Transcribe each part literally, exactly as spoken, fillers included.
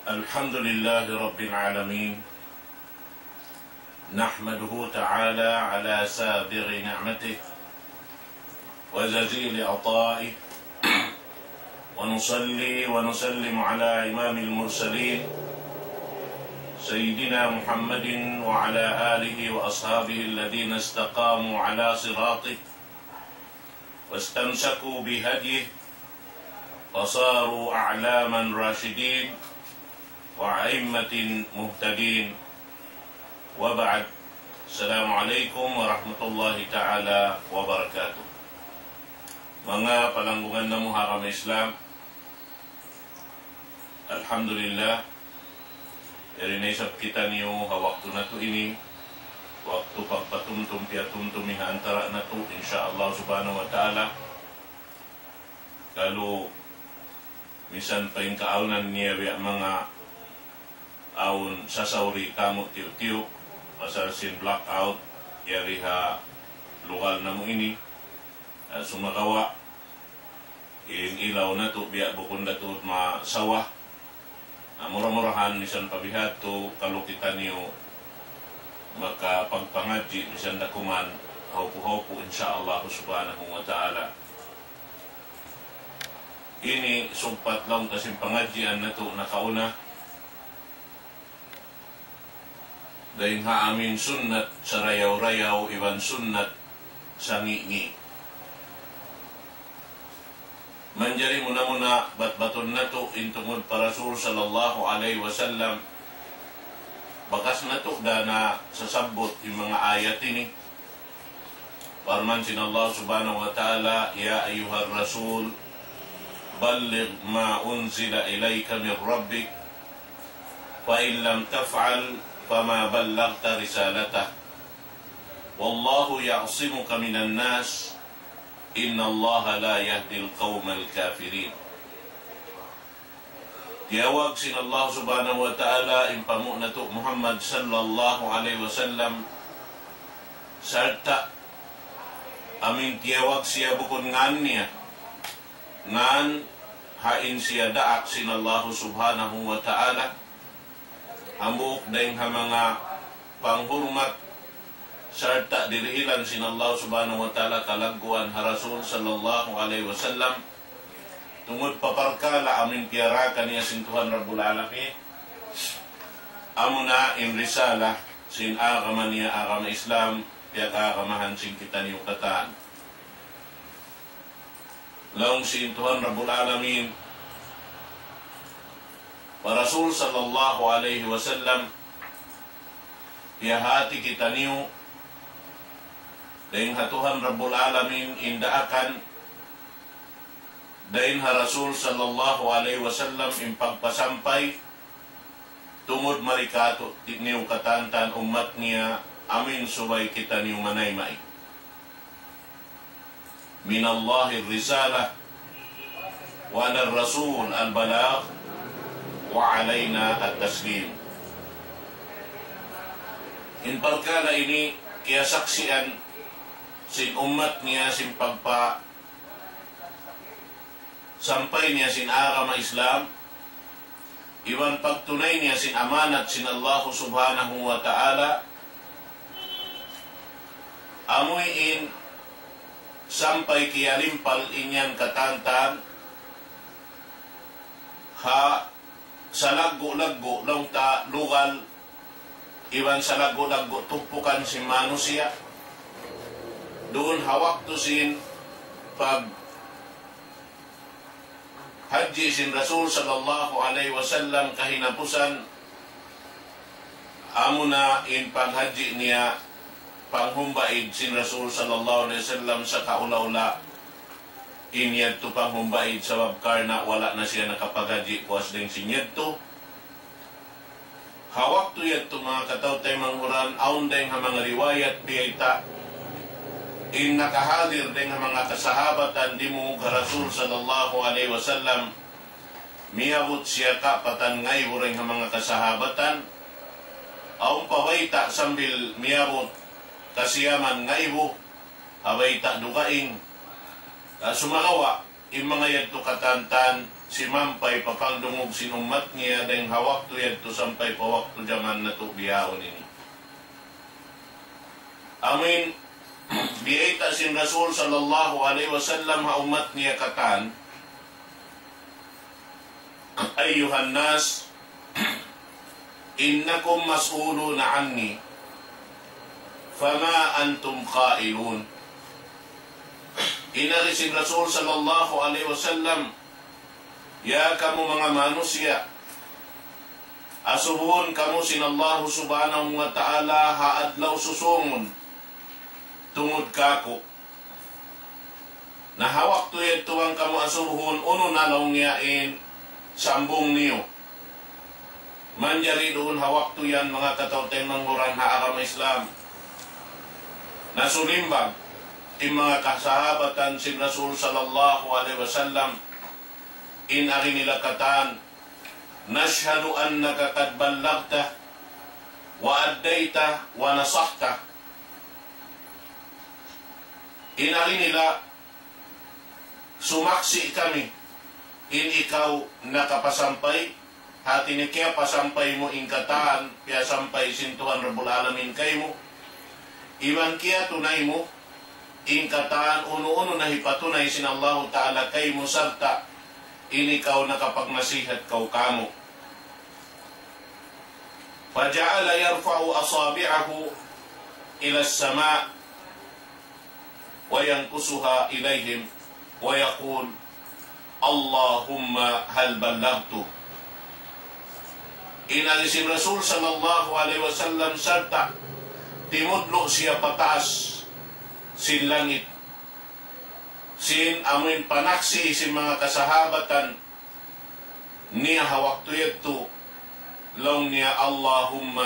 الحمد لله رب العالمين. نحمده تعالى على سابغ نعمته وجزيل عطائه، ونصلي ونسلم على إمام المرسلين سيدنا محمد وعلى آله وأصحابه الذين استقاموا على صراطه واستمسكوا بهديه فصاروا أعلاما راشدين وأئمة مهتدين. وبعد. السلام عليكم ورحمة الله تعالى وبركاته. Manga palanggungan namu' ha agama Islam, alhamdulillah, yari na isab kitaniyu ha waktu natu' ini, waktu pagpatumtum piyatumtum ha antara' natu', insya Allah subhanahu wa ta'ala. Kalu misan pa in kaawnan niya biya' manga awn sasauri kamu' tiyu'-tiyu', pasal sin blackout, yari ha lugal namu' ini, ah, sumagawa', in ilaw natu' biya' bukun da tuud masawa. Na mura-murahan misan pa bihadtu kalu kitaniyu makapagpangadji' misan da kuman hawpu-hawpu, insya Allah subhanahu wa ta'ala. Ini sugpat laung ta sin pangadjian natu' nakauna. Dayn ha amin sunnat sarayaw-rayaw iban sunnat sangi'-ngi'. Manjari muna-muna batbatun natu' in tungud pa Rasul sallallahu alayhi wasallam. Bakas natu' da nasasabbut in manga ayat ini. Parman sin Allah subhanahu wa ta'ala, يا أيها الرسول بلغ ما أنزل إليك من ربك فإن لم تفعل فما بلغت رسالته والله يعصمك من الناس إن الله لا يهدي القوم الكافرين. Tiyawag sin Allah subhanahu wa ta'ala in pamu' natu' Muhammad sallallahu alayhi wasallam, sarta' amin tiyawag siya bukun ngan niya, ngan ha in siya daak sin Allah subhanahu wa ta'ala, hambuuk dayn ha manga panghurmat, sarta' dirihilan sin Allah subhanahu wa ta'ala kalagguan ha Rasul sallallahu alayhi wasallam, tungud pa parkala' amin piyarakan niya sin Tuhan Rabbul Alamin, amuna in risala sin agama niya, agama Islam, piyag-agamahan sin kitaniyu katan. Laung sin Tuhan Rabbul Alamin pa Rasul sallallahu alayhi wasallam, piyahati kitaniyu dayn ha Tuhan Rabbul Alamin in daakan, dayn ha Rasul sallallahu alayhi wasallam in pagpasampay, tungud mari kātu'niyu katantan ummat niya, amin subay kitaniyu manayma'. من الله الرسالة وعلى الرسول البلاغ وعلينا التسليم. In parkala' ini kiyasaksian sin ummat niya sin pagpa sampay niya sin agama Islam, iban pagtunay niya sin amanat sin Allah subhanahu wa ta'ala, amuin sampay kiyalimpal in yan katantan ha salaggu'-laggu' laung ta lugal iban salaggu'-laggu' tumpukan sin manusiya'. Duun ha waktu sin pag hajji sin Rasul sallallahu alayhi wasallam kahinapusan, amuna in paghajji niya panghumbaid sin Rasul sallallahu alayhi wasallam sakaula-ula in yadtu panghumbaid sabab karna' wala' na siya nakapaghajji puas dayn sin yadtu. Ha waktu yadtu manga kataw-taymanghuran, awn dayn ha manga riwayat biyayta', in nakahadir dayn ha manga kasahabatan dimungug ha Rasul sallallahu alayhi wasallam, miyabut siya kapatan ngaibu dayn ha manga kasahabatan, awn pa bayta' sambil miyabut kasiyaman ngaibu, ha bayta' dugaing, ah, sumagawa', in manga yadtu katantan simampay pa pangdungug sin ummat niya dayng ha waktu yadtu sampay pa waktu jaman natu' bihaun ini. Amuin biyayta' sin Rasul sallallahu alayhi wasallam ha ummat niya katan, أيها الناس إنكم مسؤولون عني فما أنتم قائلون. In agi sin Rasul sallallahu alayhi wasallam, "Ya kamu manga manusiya', asubuhun kamu sin Allahu Subhanahu wa Ta'ala ha adlaw susūngun tungud kāku'. Na ha waktu yadtu bang kamu asubuhun, unu na laung niya in sambung niyu?" Manjari duun ha waktu yan, manga kataw-taymanghuran ha agama Islam, nasulimbang in manga kasahabatan sin Rasul sallallahu alayhi wasallam, in agi nila katan, "نشهد أنك قد بلغت وأديت ونصحت." In agi nila, "Sumaksi' kami in ikaw nakapasampay, hati niya kiyapasampay mu in katan, piyasampay sin Tuhan Rabbul Alamin kaymu, iban kiyatunay mu in katan unu-unu na hipatunay sin Allahu Ta'ala kaymu, sarta' in ikaw nakapagnasihat kaw kāmu'." فجعل يرفع أصابعه إلى السماء وينكسها إليهم ويقول: اللهم هل بلغت؟ In agi sin Rasul sallallahu alayhi wasallam, sarta' timudlu' siya pataas sin langit, sin amuin panaksi' sin manga kasahabatan niya ha waktu yadtu, laung niya, "اللهم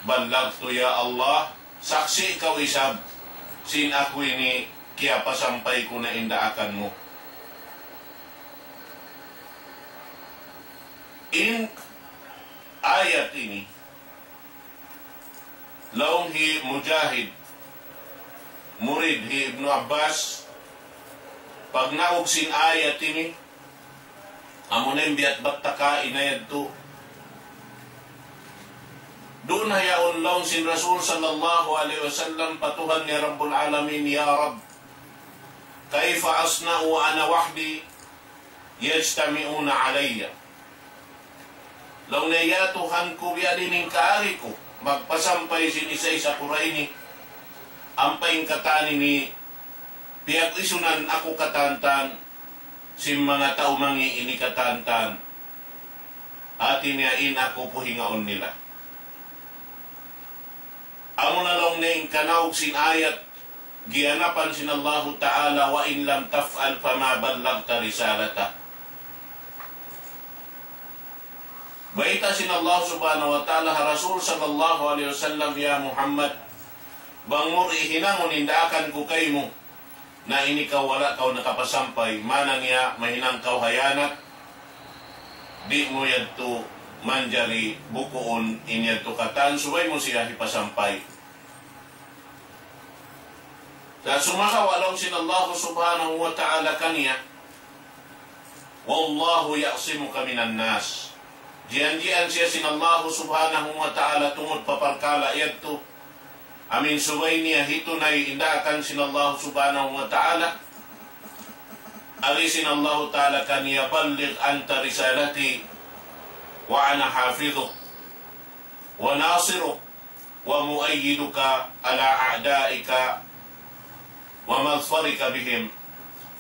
بلغت, ya Allah, saksi' kaw isab sin aku ini kiyapasampay ku na in daakan mu." In ayat ini, laung hi Mujahid, murid hi Ibnu Abbas, pagnaug sin ayat ini, amuna in biya' bat ta kaina yadtu. Duun ha yaun laung sin Rasul sallallahu alayhi wasallam pa Tuhan niya Rabbul Alamin, "يا رب، كيف أصنع وأنا وحدي يجتمعون علي؟" Laung niya, "Ya Tuhan ku, biyadiin in kaagi ku magpasampay sin isa-isa ku ra ini, ampa in katan ini piyag-isunan aku katantan sin manga tau mangi' ini katantan. Hati niya in aku puhingaun nila." Amuna laung niya in kanaug sin ayat giyanapan sin Allahu Ta'ala, "وإن لم تفعل فما بلغت رسالته." Bayta' sin Allah Subhanahu wa Ta'ala ha Rasul sallallahu alayhi wasallam, "Ya Muhammad, bang mu di' hinangun in daakan ku kaymu, na in ikaw wala' kaw nakapasampay, maana niya mahinang kaw hiyanat, di' mu yadtu manjari bukuun in yadtu katan, subay mu siya hipasampay." Sa' sumagawa' laung sin Allah Subhanahu wa Ta'ala kaniya, "والله يعصمك من الناس." Jiyanjian siya sin Allah Subhanahu wa Ta'ala tungud pa parkala' yadtu. Amuin subay niya hitunay in daakan sin Allah Subhanahu wa Ta'ala. Agi sin Allah Ta'ala kaniya, "بلغ عني رسالتي وأنا حافظك وناصرك ومؤيدك على أعدائك ومظفرك بهم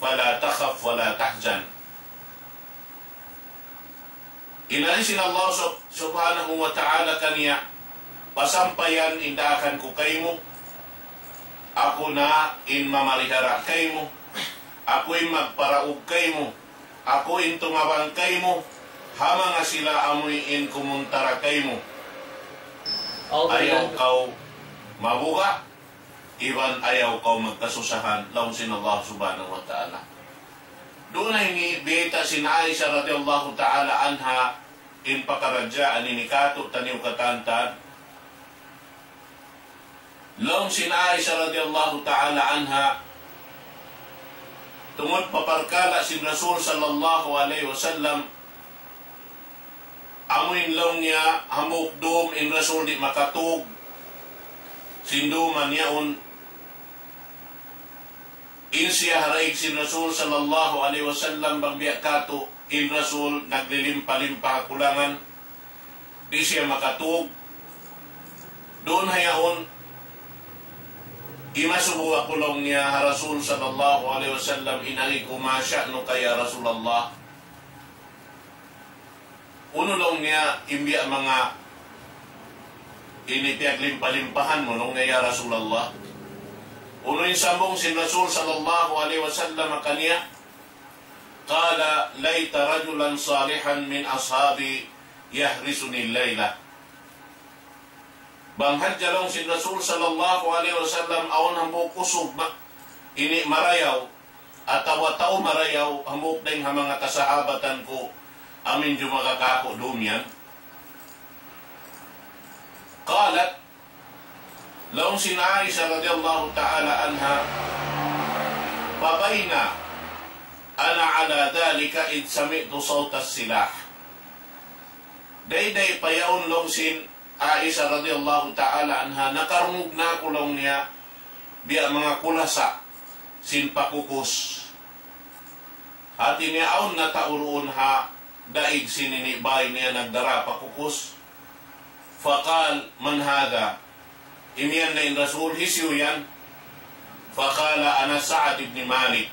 فلا تخف ولا تحزن." In agi sin Allah Sub-, Subhanahu wa Ta'ala kaniya, "Pasampayan in daakan ku kaymu, aku na in mamarihara kaymu, aku in magparaug kaymu, aku in tumabang kaymu, ha manga sila amuin kumuntara kaymu. Ayaw kaw mabuga', iban ayaw kaw magkasusahan," laung sin Allah Subhanahu wa Ta'ala. Duun na ini biyayta' sin Aisha radiyallahu ta'ala anha, in pakaradjaan ini kātu'niyu katantan. Laung sin Aisha radiyallahu ta'ala anha, Tungud pa parkala' sin Rasul sallallahu alayhi wasallam, amuin laung niya hambuuk dum in Rasul di' makatug, sin dum yaun, in siya ha daig sin Rasul sallallahu alayhi wasallam, bang biya' katu', in Rasul naglilimpa-limpa ha kulangan, di' siya makatug. Duun ha yaun, imasubu aku laung niya ha Rasul sallallahu alayhi wasallam, in agi ku, ما شأنك يا رسول الله. Unu laung niya in biya' manga ini piyaglimpa-limpahan mu laung niya, ya Rasulullah. Unu in sambung sin Rasul sallallahu alayhi wasallam kaniya? قال: ليت رجلا صالحا من أصحابي يحرسني الليلة. Bang hadja laung sin Rasul sallallahu alayhi wasallam awn hambuuk usug ma-, ini marayaw, atawa tau marayaw, hambuuk dayn ha manga kasahabatan ku, amuin jumaga kāku' dum yan. قالت, laung sin Aisha radiyallahu ta'ala anha, فبينا أنا على ذلك إذ سمعت صوت السلاح. Dayday pa yaun laung sin Aisha radiyallahu ta'ala anha, nakarungug na aku laung niya, biya' manga kulasa sin pakukus. Hati niya awn na tau duun ha daig sin ini bay niya nagdara pakukus. فقال: من هذا؟ Imiyan na in Rasul, hisiyu yan? فقال: أنا سعد بن مالك.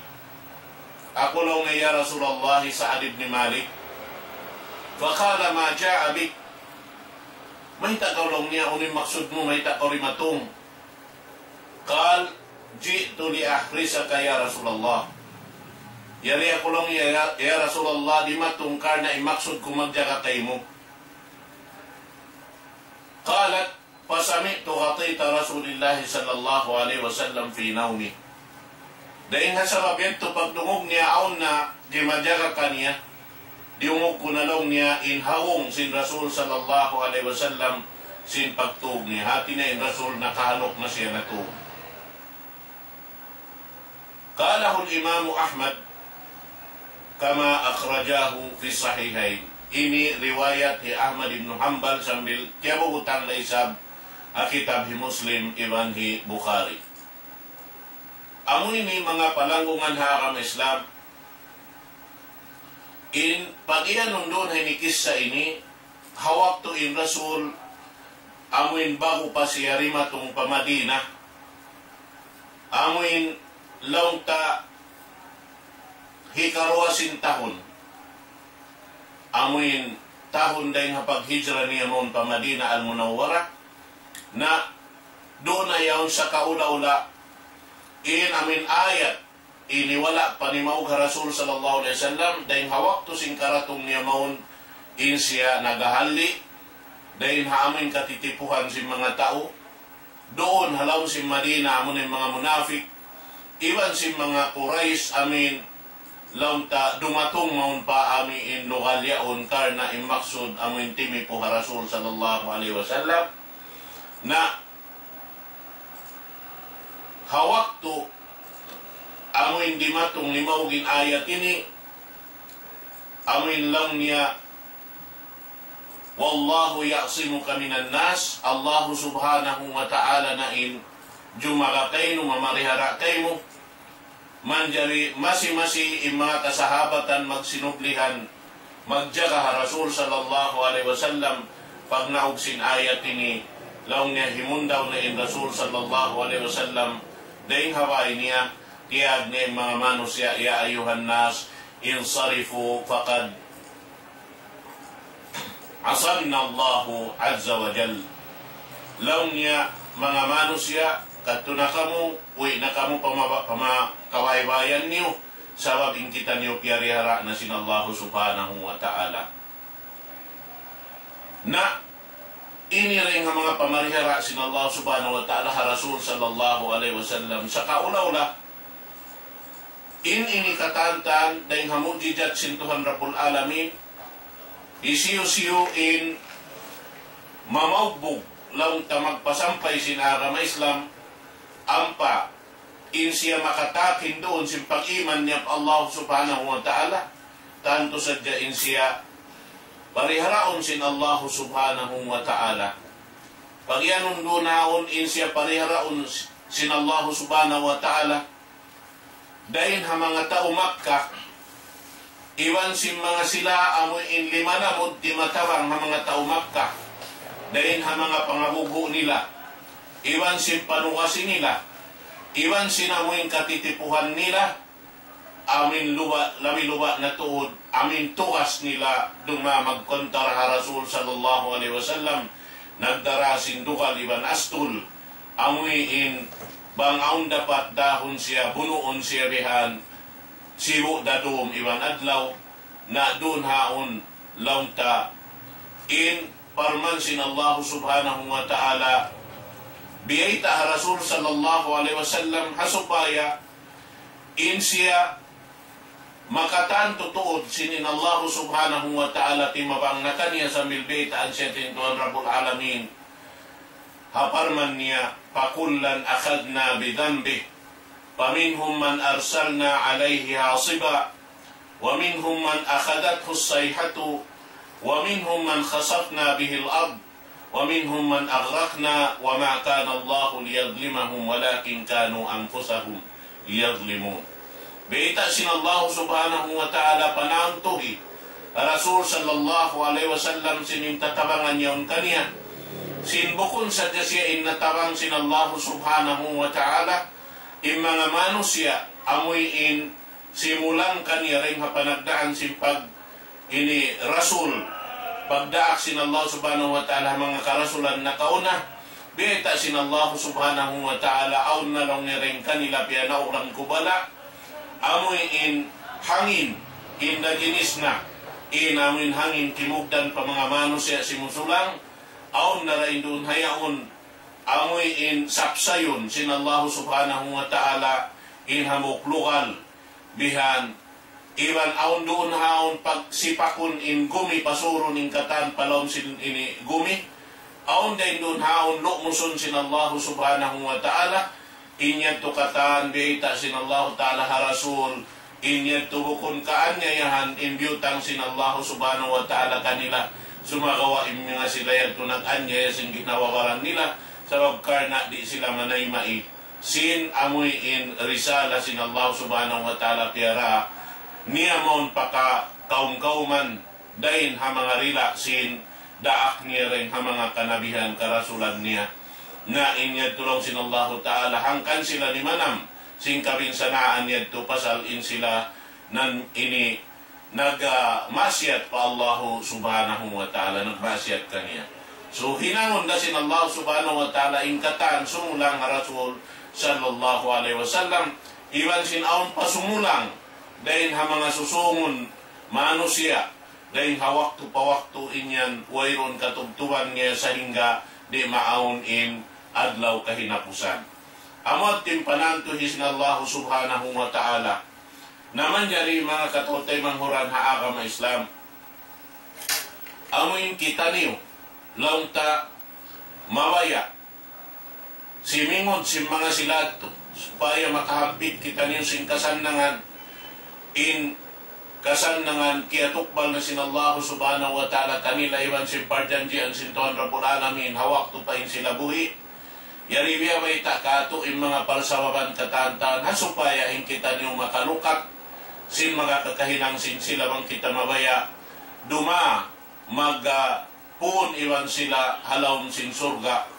Aku laung niya, ya Rasulullah, hi Sa'd ibn Malik. فقال: ما جاء بك؟ Mayta' kaw laung niya, unu in maksud mu, mayta' kaw dimatung? قال: جئت لأحرسك يا رسول الله. Yari aku laung niya, ya, ya Rasulullah, dimatung karna' in maksud ku magjaga kaymu. قالت: فسمعت غطيط رسول الله صلى الله عليه وسلم في نومي. Dayn ha sabab yadtu pagdungug niya awn na jimajaga kaniya, diyungug ku na laung niya in hawung sin Rasul sallallahu alayhi wasallam sin pagtug niya. Hati niya in Rasul nakahaluk na siya natug. قاله الإمام أحمد كما أخرجاه في الصحيحين. Ini riwayat hi Ahmad ibn Hanbal sambil kiyabubutang da isab ha kitab hi Muslim iban hi Bukhari. Amu ini manga palanggungan ha agama Islam. In pag-iyanun duun ha ini kissa ini, ha waktu in Rasul, amuin ba'gu pa siya dimatung pa Madina, amuin laung ta hikaruwa sin tahun, amuin tahun dayn ha paghijra niya mawn pa Madina Al-Munawwara, na duun na yaun sa kaula-ula, in amuin ayat ini wala' pa nimaug ha Rasul sallallahu alayhi wasallam, dayn ha waktu sin karatung niya mawn, in siya nagahali, dayn ha amuin katitipuhan sin manga tau, duun ha lawm sin Madina, amuin manga munafik, iban sin manga Quraysh, amuin laung ta dumatung mawn pa amuin lugal yaun karna' in maksud amuin timipu ha Rasul sallallahu alayhi wasallam. Na ha waktu amuin dimatung nimaug in ayat ini, amuin laung niya, والله يعصمك من الناس, Allahu subhanahu wa ta'ala na in jumaga kaymu, mamarihara kaymu. Manjari masi-masi in manga kasahabatan magsinublihan, magjaga ha Rasul sallallahu alayhi wasallam, pagnaug sin ayat ini, laung niya himundaw na in Rasul sallallahu alayhi wasallam, dayn ha bay niya, tiyawag niya in manga manusiya', يا أيها الناس انصرفوا فقد عصمنا الله عز وجل. Laung niya, manga manusiya', kadtu na kamu, uwi' na kamu pa ma-, pa manga kabaybayan niyu, sabab in kitaniyu piyarihara na sin Allahu subhanahu wa ta'ala. Na ini dayn ha manga pamarihara sin Allah subhanahu wa ta'ala ha Rasul sallallahu alayhi wasallam. Sa kaula-ula, in ini katantan dayn ha mujizat sin Tuhan Rabbul Alamin, hisiyu-siyu in mamaugbug laung ta magpasampay sin agama Islam, ampa in siya makatakin duun sin pag-iman niya pa Allah Subhanahu wa Ta'ala, tantu sadja in siya pariharaun sin Allah Subhanahu wa Ta'ala. Pagiyanun duun haun in siya pariharaun sin Allah Subhanahu wa Ta'ala, dayn ha manga tau Makkah, iban sin manga sila amu in limalamud timatabang ha manga tau Makkah, dayn ha manga pangabughu' nila, iban sin panugasi nila, iban sin amu in katitipuhan nila, amu in luba, labi-luba na tuud, amu in tugas nila duma magkontra ha Rasul sallallahu alayhi wasallam, nagdara sin dugal iban astul, amu in bang awn dapat dahun siya, bunuun siya bihan, sibu' da dum iban adlaw, na duun haun laung ta in parman sin Allah Subhanahu wa Ta'ala, biyayta' ha Rasul sallallahu alayhi wasallam, ha supaya in siya makatan tuud sin in Allah Subhanahu wa Ta'ala timabang na kaniya sambil biyaytaan siya sin Tuhan Rabbul Alamin. Ha parman niya, فكلا أخذنا بذنبه فمنهم من أرسلنا عليه حاصبا ومنهم من أخذته الصيحة ومنهم من خسفنا به الأرض ومنهم من أغرقنا وما كان الله ليظلمهم ولكن كانوا أنفسهم يظلمون. Biyayta' sin Allah Subhanahu wa Ta'ala panantuhi Rasul sallallahu alayhi wasallam sin in tatabangan yaun kaniya. Sin bukun sadja siya in natabang sin Allah Subhanahu wa Ta'ala, in manga manusiya' amuin simulang kaniya dayn ha panagdaan sin pag ini Rasul, pagdaak sin Allah Subhanahu wa Ta'ala ha manga karasulan nakauna, biyayta' sin Allah Subhanahu wa Ta'ala, awn na laung niya dayn kanila piyanaug ku bala', amuin hangin, in da jinis na, in amuin hangin kimugdan pa manga manusiya' simusulang, awn na dayn duun ha yaun, amuin sapsayun sin Allah Subhanahu wa Ta'ala, in hambuuk lugal, bihan, iban awn duun haun pagsipakun in gumi, pasurun in katan pa lawm sin ini gumi, awn dayn duun haun lumusun sin Allah Subhanahu wa Ta'ala, in yadtu katan biyayta' sin Allah Ta'ala ha Rasul, in yadtu bukun kaanyayahan in biyutang sin Allah Subhanahu wa Ta'ala kanila, sumagawa' in manga sila yadtu nag-anyaya sin ginhawa-baran nila, sabab karna' di' sila manayma' sin amuin risala sin Allah Subhanahu wa Ta'ala piyara niya mawn pa ka-, kaum-kauman dayn ha manga rila sin daak niya dayn ha manga kanabihan karasulan niya. Na in yadtu laung sin Allahu Ta'ala, hangkan sila nimanam sin kabinsanaan yadtu pasal in sila nan ini nag, ah, maksiyat pa Allahu Subhanahu wa Ta'ala, nagmaksiyat kaniya. So, hinangun da sin Allah Subhanahu wa Ta'ala in katan sumulang ha Rasul sallallahu alayhi wasallam, iban sin awn pa sumulang dayn ha manga susungun manusiya', dayn ha waktu pa waktu in yan wayruun katubtuban niya sahingga di' maawn in adlaw kahinapusan. Amu yadtu in panantuhi sin Allah Subhanahu wa Ta'ala. Na manjari manga kataymanghuran ha agama Islam. Amu in kitaniyu, laung ta mabaya', simingud sin manga sila yadtu, supaya makahampit kitaniyu sin kasannangan, in kasannangan kiyatukbal na sin Allah Subhanahu wa Ta'ala kanila iban sin parjanjian sin Tuhan Rabbul Alamin, ha waktu pa in sila buhi', yari biya' bayta' katu' in manga parsababan katan-katan, ha supaya in kitaniyu makalukat sin manga kakahinang sin sila bang kita mabaya' duma mag, ah, pun iban sila ha lawm sin surga'.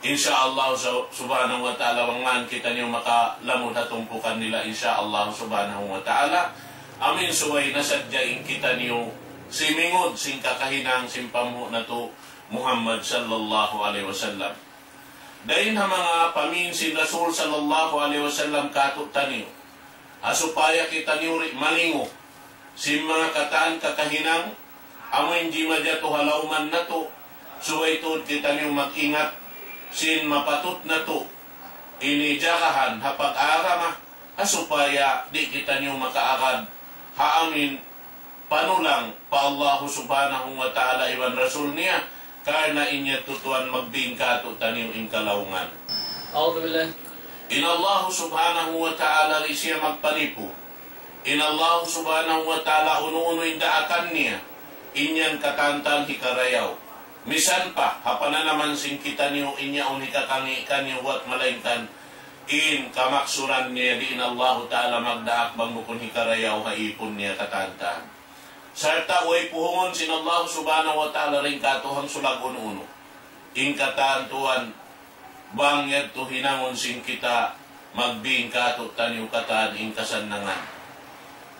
Insya Allah su-, Subhanahu wa Ta'ala, bang man kitaniyu makalamud ha tumpukan nila, insya Allah Subhanahu wa Ta'ala. Amin subay na sadja in kitaniyu simingud sin kakahinang sin panghu' natu' Muhammad sallallahu alayhi wasallam. Dayn ha manga pamin sin Rasul sallallahu alayhi wasallam kātu'niyu, ha supaya kitaniyu di' malingu sin manga katan kakahinang amu in jimatu ha lawman natu', subay tuud kitaniyu mag-ingat sin mapatut natu' ini jagahan ha pag-agama, ha supaya di' kitaniyu makaagad ha amin panulang pa Allahu Subhanahu wa Ta'ala iban Rasul niya, karna' in yadtu tuwan magbin kātu'niyu in kalaungan. أعوذ بالله. In Allah subhanahu wa ta'ala di' siya magpanipu. In Allah subhanahu wa ta'ala unu-unu in daakan niya, in yan katantan hikarayaw. Misan pa, ha pananaman sin kitaniyu in yaun hikakangi' kaniyu buwat malaingkan, in kamaksuran niya di' in Allah ta'ala magdaak bang bukun hikarayaw ha ipun niya katantan. Sarta' way puhungun sin Allah subhanahu wa ta'ala dayn kātu' hangsulag unu-unu. In katan tuwan, bang yadtu hinangun sin kita, magbin kātu'niyu katan in kasannangan.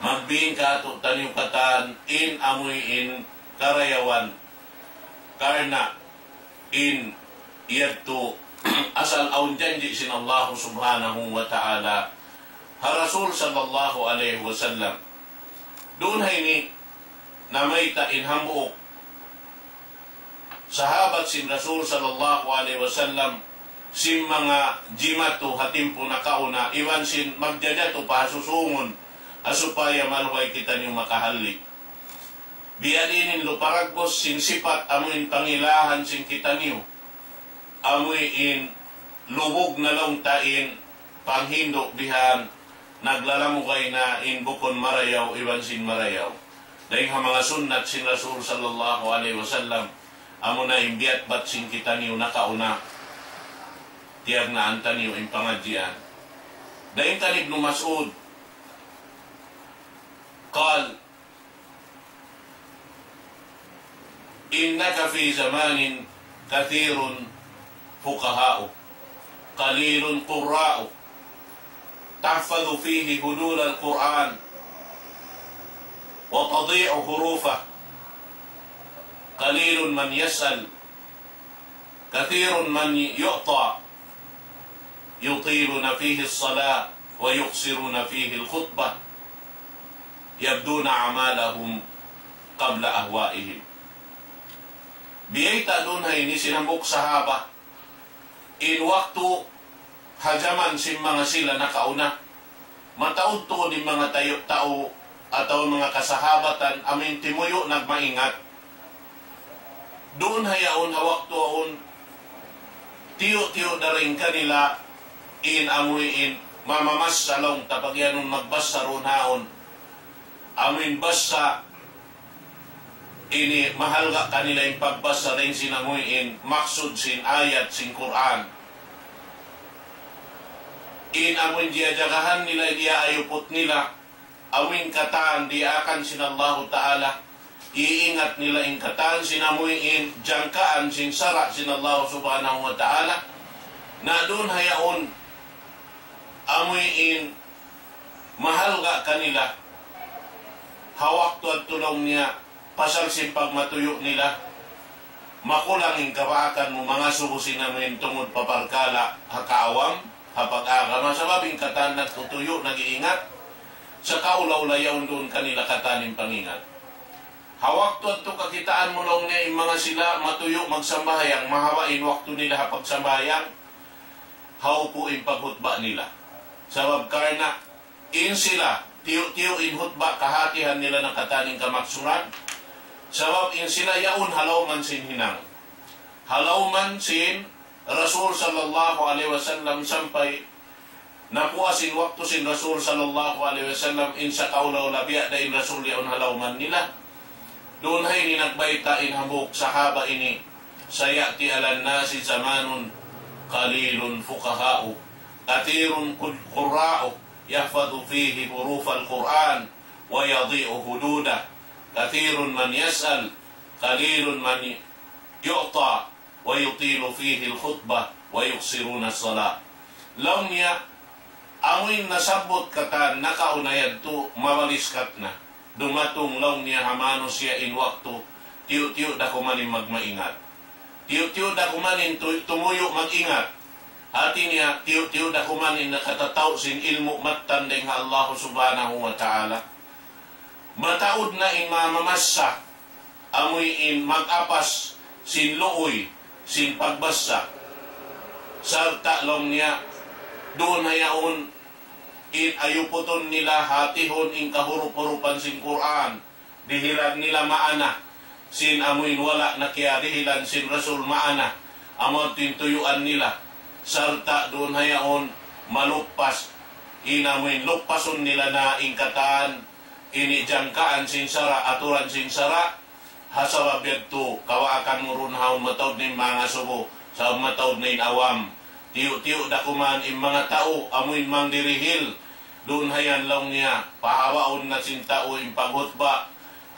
Magbin kātu'niyu katan in amuin karayawan. Karna' in yadtu asal awn janji' sin Allah subhanahu wa ta'ala ha Rasul sallallahu alayhi wasallam. Duun ha ini namayta' in hambuuk sahabat sin Rasul sallallahu alayhi wasallam sin manga jimatu ha timpu nakauna iban sin magjajatu pa ha susungun, ha supaya maluhay kitaniyu makahalli'. Biya' diin in luparagbus sin sipat amuin pangilahan sin kitaniyu. Amuin lubug na laung ta in panghindu' bihan, naglalamugay na in bukun marayaw iban sin marayaw. Dayn ha manga sunnat sin Rasul sallallahu alayhi wasallam, amuna in biyatbat sin kitaniyu nakauna, tiyagnaan taniyu in pangadjian. Dayn kan Ibnu Mas'ud, قال: إنك في زمان كثير فقهاؤه قليل قراؤه، تحفظ فيه حدود القرآن وتضيع حروفه، قليل من يسأل، كثير من يعطى، يطيلون فيه الصلاة ويقصرون فيه الخطبة، يبدون أعمالهم قبل أهوائهم. Biyayta' duun ha ini sin hambuuk sahaba, in waktu ha jaman sin manga sila nakauna, mataud-tuud in manga tayu-, tau atawa manga kasahabatan amuin timuyu' nagmaingat. Duun ha yaun ha waktu yaun, tiyu'-tiyu' da dayn kanila in amuin mamamassa laung ta pag-iyanun magbassa duun ha yaun. Amuin bassa ini mahalga' kanila in pagbassa dayn sin amuin maksud sin ayat sin Qur'an. In amuin diyajagahan nila, diyaayuput nila, amuin katan diyaakan sin Allahu Ta'ala, iingat nila in katan sin amuin jangkaan sin sara' sin Allah Subhanahu wa Ta'ala, na duun ha yaun amuin mahalga' kanila ha waktu yadtu laung niya, pasal sin pagmatuyu' nila, makulang in kabaakan mu mangasubu sin amuin tungud pa parkala' ha kaawam, ha pag-agama, sabab in katan nagtutuyu', nag-iingat, sa' kaula-ula yaun duun kanila katan in pangingat. Ha waktu yadtu kakitaan mu laung niya in manga sila matuyu' magsambahayang, mahaba' in waktu nila ha pagsambahayang, haupu' in paghutba nila. Sabab karna' in sila, tiyu'-tiyu' in hutba kahatihan nila na katan in kamaksuran. Sabab in sila yaun ha lawm sin hinang. Ha lawm sin Rasul sallallahu alayhi wasallam sampay napuas in waktu sin Rasul sallallahu alayhi wasallam, in sa kaula-ula biya' da in Rasul yaun ha lawm nila. Duun ha ini nagbayta' in hambuuk sahaba ini, سيأتي على الناس زمان قليل فقهاؤه كثير قراؤه يحفظ فيه حروف القرآن ويضيع حدوده، كثير من يسأل، قليل من يعطى، ويطيل فيه الخطبة ويقصرون الصلاة. Laung niya, amuin nasabbut katan nakauna yadtu, mabaliskat na. Dumatung laung niya ha manusiya' in waktu, tiyu'-tiyu' da kuman in magmaingat. Tiyu'-tiyu' da kuman in tu-, tumuyu' mag-ingat. Hati niya, tiyu'-tiyu' da kuman in nakatataw sin ilmu' mattan dayn ha Allah Subhanahu wa Ta'ala. Mataud na in mamamassa, amuin mag-apas sin luuy, sin pagbassa. Sarta' laung niya, duun ha yaun in ayuputun nila hatihun in kahurup-hurupan sin Qur'an, dihilan nila maana, sin amuin wala' na kiyadihilan sin Rasul maana, amu in tuyuan nila. Sarta' duun ha yaun, maluppas, in amuin luppasun nila na in katan ini jangkaan sin sara', aturan sin sara', ha sabab yadtu, kawaakan mu duun ha awn mataud na in manga subu, sabab mataud na in awam. Tiyu'-tiyu' da kuman in manga tau, amuin mangdirihil, duun hayan laung niya, pahawaun na sin tau in paghutba,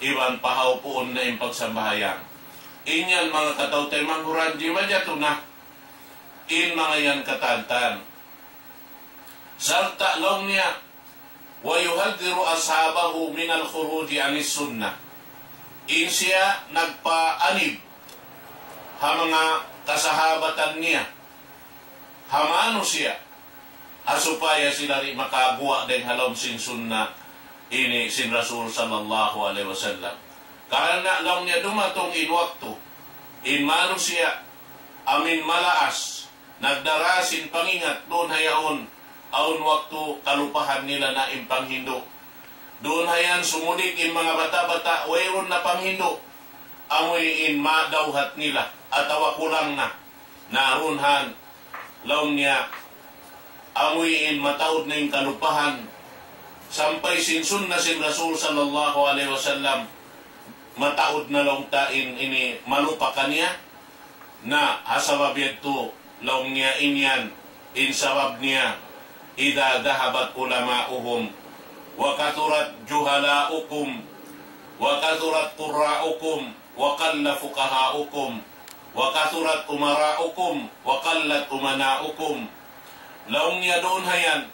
iban pahaupuun na in pagsambahayang. In yan manga kataw-taymanghuran, jimajatu na in manga yan katantan. Sarta' laung niya, ويحذر أصحابه من الخروج عن السنة. In siya nagpaanib ha manga kasahabatan niya, ha manusiya', ha supaya sila di' makaguwa' dayn ha lawm sin sunna ini sin Rasul sallallahu alayhi wasallam. Karna' laung niya dumatung in waktu, in manusiya', amuin malaas, nagdara sin pangingat duun ha yaun, awn waktu kalupahan nila na in panghindu'. Duun ha yan sumudig in manga bata'-bata', wayruun na panghindu'. Amuin madawhat nila, atawa kulang na. Na duun han, laung niya, amuin mataud na in kalupahan. Sampay sin sunna sin Rasul sallallahu alayhi wasallam, mataud na laung ta in ini malupa kaniya. Na, ha sabab yadtu, laung niya in yan, in sabab niya, إذا ذهبت علماؤهم وكثرت جهلاؤكم وكثرت قراؤكم وقل فقهاؤكم وكثرت أمراؤكم وقلت أمناؤكم. Laung niya duun ha yan,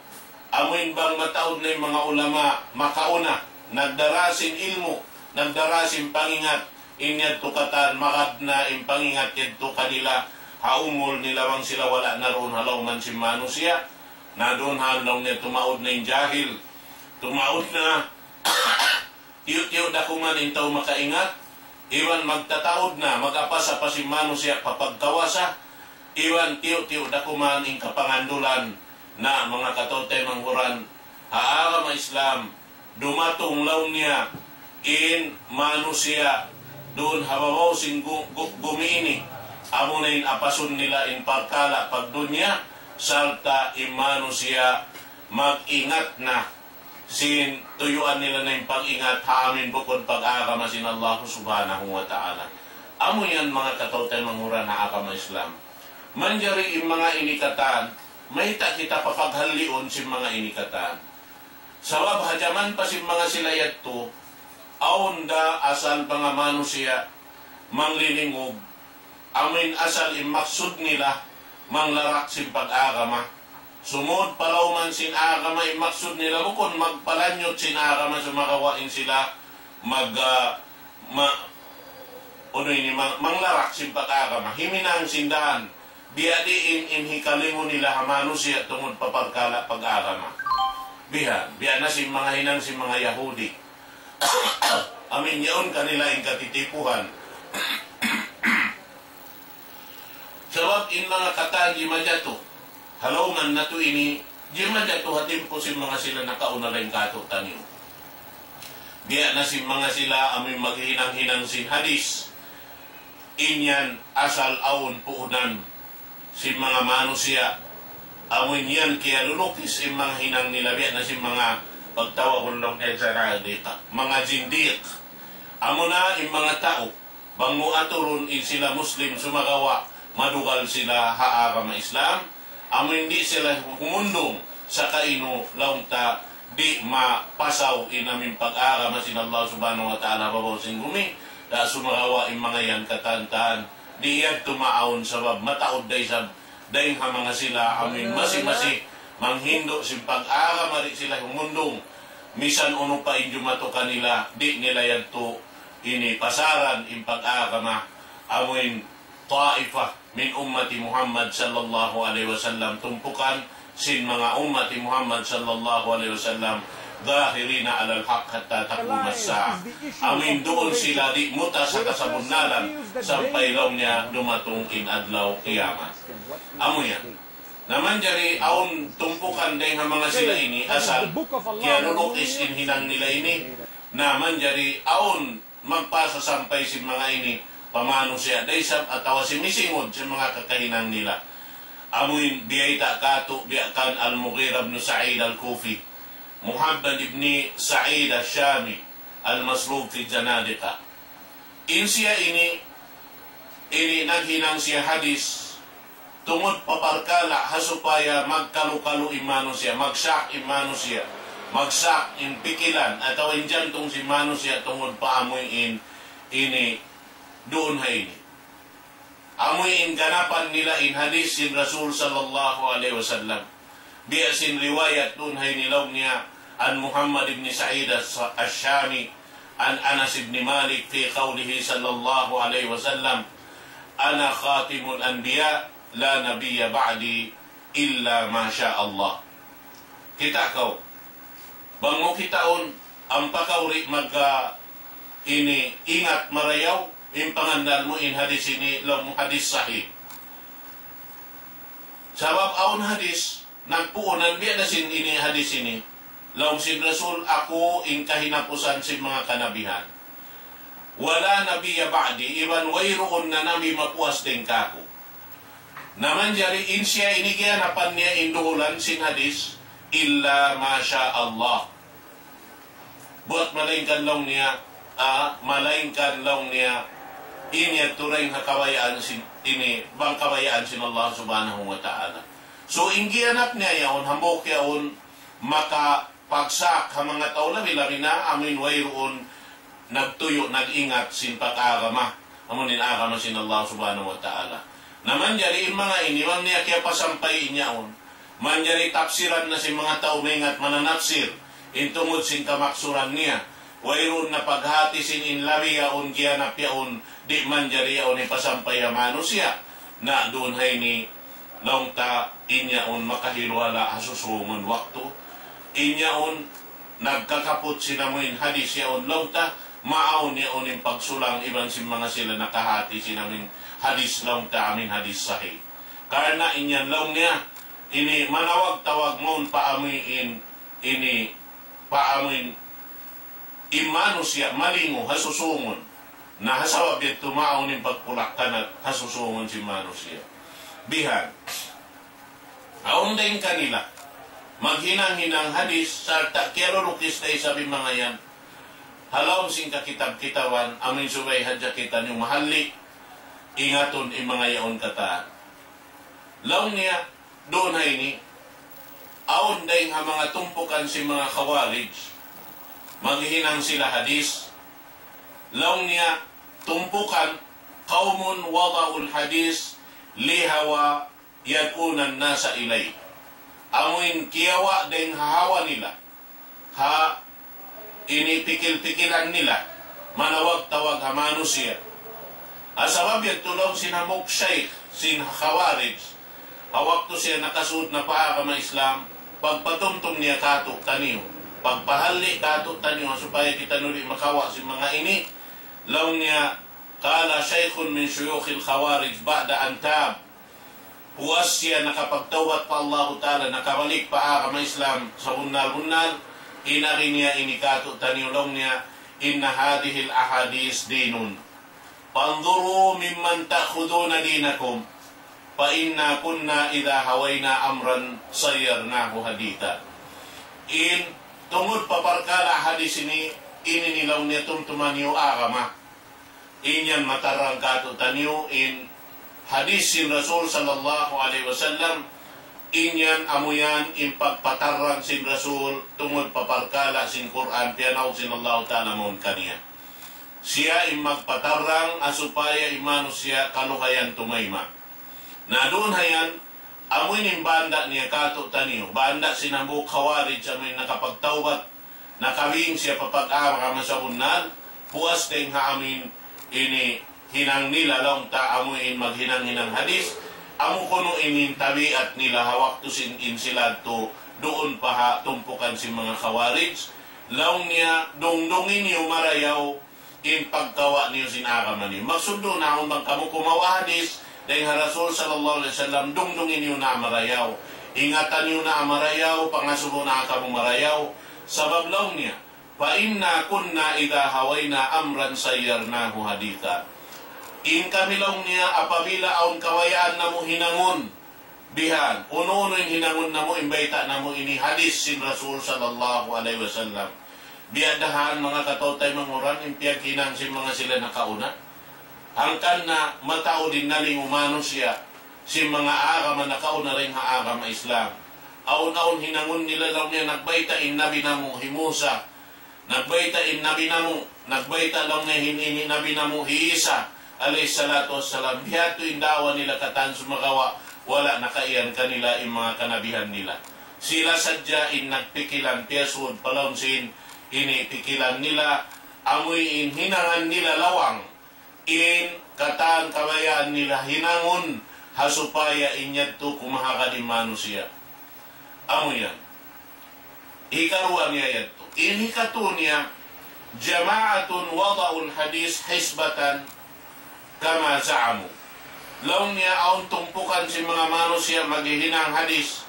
amuin bang mataud na in manga ulama, makauna, nagdara sin ilmu', nagdara sin pangingat, in yadtu katan magad na in pangingat yadtu kanila, ha umul nila bang sila wala' na duun ha lawman sin manusiya', na duun ha laung niya tumaud na in jahil, tumaud na, tiyu'-tiyu' da kuman in tau makaingat, iban magtataud na, mag-apas-apas in manusiya' pa pagkawasa, iban tiyu'-tiyu' da kuman in kapangandulan. Na manga kataw-taymanghuran, ha agama Islam, dumatung laung niya in manusiya' duun ha babaw sin gu-, gu-, gumi ini, amuna in apasun nila in parkala' pagdunya, sarta' in manusiya' mag-ingat na sin tuyuan nila na in pag-ingat ha amuin bukun pag-agama sin Allah Subhanahu wa Ta'ala. Amu yan manga kataw-taymanghuran ha agama Islam. Manjari in manga ini katan, mayta' kita papaghalliun sin manga ini katan. Sabab ha jaman pa sin manga sila yadtu, awn da asal manga manusiya' manglilingug, amuin asal in maksud nila manglarak sin pag-agama. Sumud pa lawman sin agama in maksud nila, bukun magpalanyut sin agama, sumagawa' in sila mag, ah, ma-, unu ini, mang-, manglarak sin pag-agama. Himinang sin dan, biya' diin in hikalingu nila ha manusiya' tungud pa parkala' pag-agama. Bihan, biya' na sin manga hinang sin manga Yahudi. Amuin yaun kanila in katitipuhan. Sabab in manga katan jimajatu ha lawman natu' ini, jimajatu ha timpu sin manga sila nakauna dayn kātu'niyu. Biya' na sin manga sila amuin maghinang-hinang sin hadis. In yan asal awn puunan sin manga manusiya'. Amuin yan kiyalulukis in manga hinang nila, biya' na sin manga pagtawagun laung niya zanadiqa, manga zindiq. Amuna in manga tau, bang mu aturun in sila Muslim sumagawa' madugal sila ha agama Islam, amuin di' sila humundung, sakainu laung ta di' mapasaw in amuin pag-agama sin Allah Subhanahu wa Ta'ala ha babaw sin gumi, da sumagawa' in manga yan katantan, di' yadtu maawn sabab mataud da isab dayn ha manga sila amuin masi-masi manghindu' sin pag-agama, di' sila humundung. Misan unu pa in jumatu kanila, di' nila yadtu ini pasaran in pag-agama, amuin ta'ifa min ummati Muhammad sallallahu alayhi wasallam, tumpukan sin manga ummati Muhammad sallallahu alayhi wasallam, ظاهرين على الحق حتى تقوم الساعة. Amuin duun sila di' mutas ha kasabunnalan sampay laung niya dumatung in adlaw kiyamat. Amu yan. Na manjari awn tumpukan dayn ha manga sila ini, asal kiyalulukis in hinang nila ini, na manjari awn magpasasampay sin manga ini pa manusiya' da isab atawa simisingud sin manga kakahinang nila. Amuin biyayta' katu' biya' kan Al-Mughira ibn Sa'id Al-Kufi, Muhammad ibn Sa'id Al-Shami, Al-Maslub fi Zanadiqa. In siya ini, ini naghinang siya hadis, tungud pa parkala' ha supaya magkalu-kalu in manusiya', magsak in manusiya', magsak in pikilan, atawa in jantung sin manusiya' tungud pa amuin ini duun ha ini. Amuin ganapan nila in hadis sin Rasul sallallahu alayhi wasallam. Biya' sin riwayat duun ha ini laung niya, عن محمد بن سعيد الشامي عن أنس بن مالك في قوله صلى الله عليه وسلم: أنا خاتم الأنبياء لا نبي بعدي إلا ما شاء الله. Kita' kaw, bang mu kitaun, ampa kaw di' mag, ah, ini ingat marayaw, in pangannal mu in hadis ini, laung mu hadis sahih. Sabab awn hadis, nagpuunan biya' na sin ini hadis ini. Laung sin Rasul, aku in kahinapusan sin manga kanabihan. ولا نبي بعدي, iban wayruun na nabi mapuas dayn kāku'. Na manjari in siya ini giyanapan niya in duhulan sin hadis, إلا ما شاء الله. Buwat malaingkan laung niya, ah, malaingkan laung niya, in yadtu dayn ha kabayaan sin, ini, bang kabayaan sin Allah Subhanahu wa Ta'ala. So, in giyanap niya yaun, hambuuk yaun, makapagsak ha manga tau labi-labi na amuin wayruun nagtuyu', nag-ingat sin pag-agama, amuin agama sin Allah Subhanahu wa Ta'ala. Na manjari in manga ini, bang niya kiyapasampay in yaun. Manjari tapsiran na sin manga tau maingat mananapsir, in tungud sin kamaksuran niya. Wayruun na paghati sin in labi yaun, giyanap yaun, di' manjari yaun hipasampay ha manusiya'. Na duun ha ini, laung ta in yaun makahiluhala' ha susungun waktu. In yaun nagkakaput sin amuin hadis yaun laung ta, maawn yaun in pagsulang iban sin manga sila nakahati sin amuin hadis laung ta amuin hadis sahih. Karna' in yan laung niya, ini manawag-tawag mawn pa amuin, ini pa amuin in manusiya' malingu ha susungun. Na ha sabab yadtu maawn in pagpulak-kanat ha susungun sin manusiya'. Bihan. Awn dayn kanila maghinang-hinang hadis, sarta' kiyalulukis da isab in manga yan ha lawm sin kakitab-kitaban, amuin subay hadja kitaniyu mahalli', ingatun in manga yaun katan. Laung niya, duun ha ini, awn dayn ha manga tumpukan sin manga Khawarij, maghihinang sila hadis. Laung niya, tumpukan, قوم وضعوا الحديث لهوى يدعون الناس إليه. Amuin kiyawa' dayn ha hawa nila, ha ini pikil-pikilan nila, manawag-tawag ha manusiya'. Ha sabab yadtu laung sin hambuuk shaykh sin Khawarij, ha waktu siya nakasud na pa agama Islam, pagpatumtum niya kātu'niyu, pagpahalli' kātu'niyu, ha supaya kitaniyu di' makawa' sin manga ini, laung niya, قال شيخ من شيوخ الخوارج بعد أن تاب. Puas siya nakapagtawbat pa Allahu Ta'ala, nakabalik pa agama Islam sabunnal-bunnal, in agi niya ini kātu'niyu laung niya, إن هذه الأحاديث دين. فانظروا ممن تأخذون دينكم. فإنا كنا إذا هوينا أمرا صيرناه حديثا. In tungud pa parkala' hadis ini, ini in laung niya tumtuma niyu agama. In yan matarrang kātu'niyu in hadis sin Rasul sallallahu alayhi wasallam, in yan amu yan in pagpatarrang sin Rasul tungud pa parkala' sin Qur'an, piyanaug sin Allahu Ta'ala mawn kaniya. Siya in magpatarrang, ha supaya in manusiya' kaluhayan tumayma'. Na duun ha yan, amu ini in banda' niya kātu'niyu, banda' sin hambuuk Khawarij, amu in nakapagtawbat, nakabing siya pa pag-agama sabunnal, puas dayn ha amuin ini hinang nila laung ta amuin maghinang-hinang hadis, amu kunu' ini in tabiat nila ha waktu sin in sila yadtu duun pa ha tumpukan sin manga Khawarij, laung niya dungdungi niyu marayaw in pagkawa' niyu sin agama niyu. Maksud duun na awn bang kamu kumawa' hadis dayn ha Rasul sallallahu alayhi wasallam, dungdungi niyu na marayaw. Ingata niyu na marayaw, pangasubu na kamu marayaw. Sabab laung niya, فإنا كنا إذا هوينا أمرا صيرناه حديثا. In kami laung niya apabila awn kabayaan namu' hinangun, Bihan, unu-unu in hinangun namu', in bayta' namu' ini hadis sin Rasul sallallahu alayhi wasallam. Biya' da han manga kataw-taymanghuran in piyaghinang sin manga sila nakauna. Hangkan na mataud in nalingu' manusiya' sin manga agama nakauna dayn ha agama Islam. Awn-awn hinangun nila laung niya nagbayta' in Nabi namu' hi Musa. Nagbayta' in Nabi namu', nagbayta' laung niya in, in Nabi namu' hi Isa, alayhi salatu wassalam. Bihadtu in da'wa nila katan sumagawa', wala' nakaiyan kanila in manga kanabihan nila. Sila sadja in nagpikilan, piyasud pa lawm sin ini pikilan nila, amuin hinangan nila lawang in katan kabayaan nila hinangun ha supaya in yadtu kumahagad in manusiya'. Amu yan. Hikaruwa niya yadtu. In hikatu niya, جماعة وضعوا الحديث حسبة كما زعموا. Laung niya awn tumpukan sin manga manusiya' maghihinang hadis.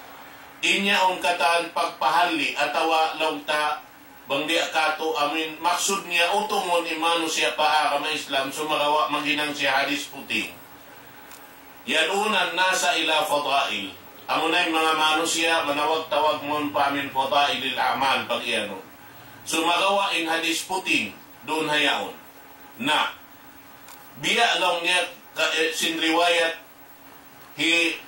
In yaun katan pagpahalli' atawa laung ta bang biya' katu' amin maksud niya utungun in manusiya' pa agama Islam sumagawa' maghinang siya hadis puting. يدعون الناس إلى فضائل. Amuna in manga manusiya' manawag-tawag mawn pa amin fadailil a'mal pag-iyanun. Sumagawa' in hadis puting duun ha yaun. Na, biya' laung niya ka, eh, sin riwayat hi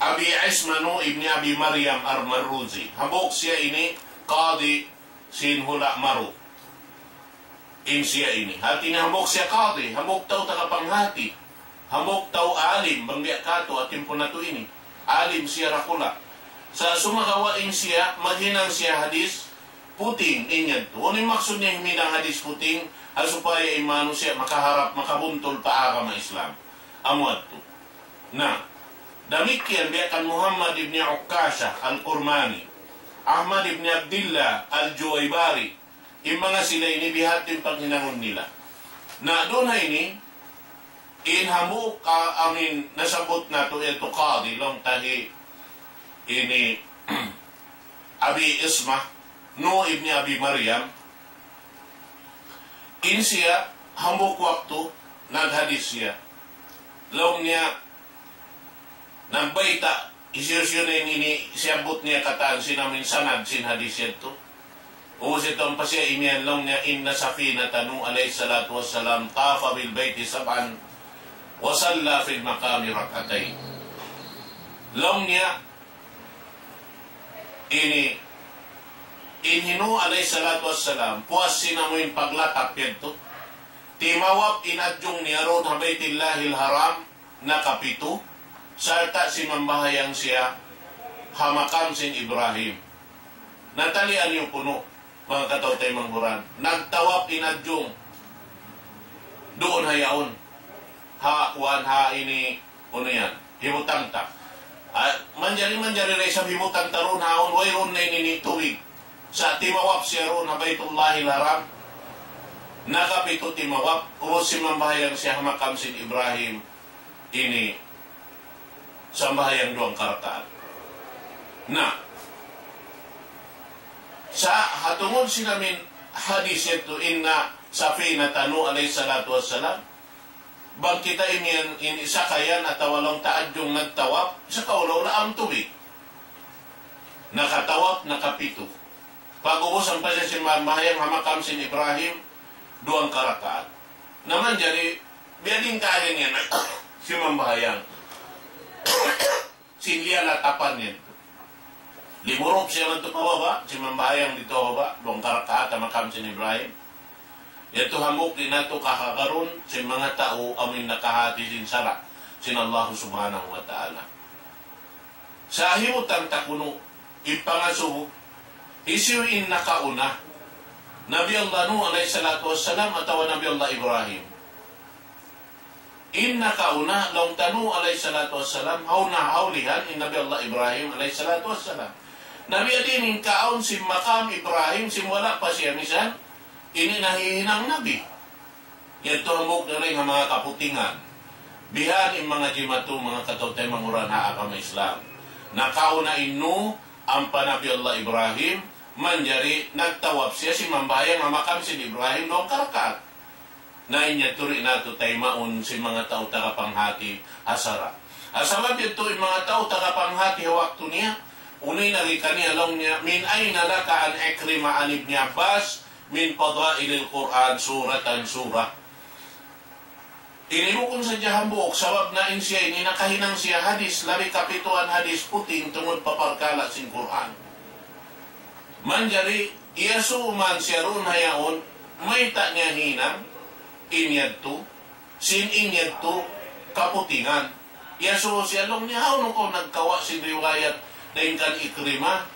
Abi Isma Nuh ibn Abi Maryam Al-Marruzi. Hambuuk siya ini qadi sin hula' Maru. In siya ini. Hati niya hambuuk siya qadi, hambuuk tau tagapanghati. Hambuuk tau alim, bang biya' katu', ha timpu natu' ini. Alim siya dakula'. Sa' sumagawa' in siya, maghinang siya hadis, puting, in yadtu. Unu in maksud niya himinang hadis puting, ha supaya in manusiya' makaharap, makabuntul pa agama Islam. Amu yadtu. Na, damikkiyan biya' kan Muhammad ibn Ukkasha al-Kurmani, Ahmad ibn Abdillah al-Juwaybari, in manga sila ini bihadtu in paghinangun nila. Na, duun ha ini, in hambuuk, ah, amin nasabbut natu' yadtu qadi, laung ta hi ini Abi Isma, Nuh ibn Abi Maryam, in siya, hambuuk waktu, naghadis siya. Laung niya, nagbayta', hisiyu-siyu na in ini, siyabbut niya katan sin amin sanad sin hadis yadtu. Ubus yadtu ampa siya imiyan laung niya, إن سفينة نوح عليه الصلاة والسلام طاف بالبيت سبعا وصلى في المقام ركعتين. Laung niya, ini, in hi Nuh alayhi salatu wassalam, puas sin amuin paglatap yadtu. Timawap in adjung niya duun ha Baytillahil Haram, nakapitu, sarta' simambahayang siya ha makam sin Ibrahim. Natalian niyu kunu', manga kataw-taymanghuran. Nagtawap in adjung. Duun ha yaun. Ha, kuwan, ha ini, unu yan. Hibutang ta. Ah, manjari, manjari da isab hibutang ta duun ha yaun, wayruun na ini tubig. Sa' timawap siya duun ha Baytullahil Haram. Nakapitu timawap, ubus simambahayang siya ha makam sin Ibrahim. Ini sambahayang duwang karakaat. Na, sa' ha tungud sin amin hadis yadtu, إن سفينة نوح عليه الصلاة والسلام, bang kita ini, ini sakayan atawa laung ta adjung nagtawap, sa' kaula-ula awn tubig. Nakatawap, nakapitu. Pag-ubus ampa siya simambahayang ha makam sin Ibrahim, duwang karakaat. Na manjari, biya' diin kaagi niya na simambahayang. Sin liyan atapan niya. Limurup siya madtu pa baba', simambahayang didtu ha baba', duwang karakaat ha makam sin Ibrahim. Yadtu hambuuk di' natu' kahagarun, sin manga tau amuin nakahati sin sara', sin Allah Subhanahu wa Ta'ala. Sa' hibutang ta kunu', in pangasubu, hisiyu in nakauna, Nabi Allah Nuh alayhi salatu wassalam atawa Nabi Allah Ibrahim? In nakauna, laung ta Nuh alayhi salatu wassalam, hauna hawlihan in Nabi Allah Ibrahim alayhi salatu wassalam. Na biya' diin in kaawn sin makam Ibrahim, sin wala' pa siya misan, ini nahihinang nabi. Yadtu hambuuk dayn ha manga kaputingan. Bihan in manga jimatu, manga kataw-taymanghuran ha agama Islam. Nakauna in Nuh, ampa Nabi Allah Ibrahim, manjari nagtawap siya simambahayang ha makam sin Ibrahim duwang karakaat. Na in yadtu di' natu' taymaun sin manga tau taga panghati ha sara'. Sabab yadtu in manga tau taga panghati ha waktu niya, unu in agi kaniya laung niya, من أين لك عن عكرمة عن ابن عباس من فضائل القرآن سورة سورة. Ini bukun sadja hambuuk, sabab na in siya ini nakahinang siya hadis, labi kapituan hadis puting tungud pa parkala' sin Qur'an. Manjari, iyasubu man siya duun ha yaun, mayta' niya hinang in yadtu, sin in yadtu kaputingan. Iyasubu siya laung niya, "Hawnu kaw nagkawa' sin riwayat dayn kan Ikrimah,